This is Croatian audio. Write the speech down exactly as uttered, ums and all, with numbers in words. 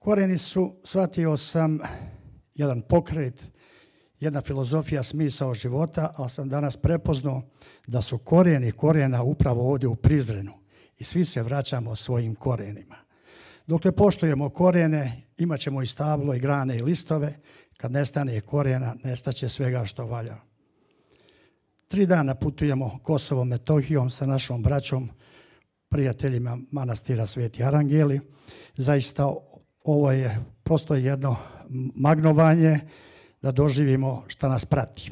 Korijeni su, shvatio sam, jedan pokret, jedna filozofija, smisao života, ali sam danas prepoznao da su korijeni korijena upravo ovdje u Prizrenu i svi se vraćamo svojim korijenima. Dokle poštujemo korijene, imat ćemo i stablo, i grane, i listove. Kad nestane korijena, nestaće svega što valja. Tri dana putujemo Kosovom, Metohijom sa našom braćom, prijateljima manastira Sveti Arangeli. Zaista ovo je prosto jedno magnovanje da doživimo šta nas prati.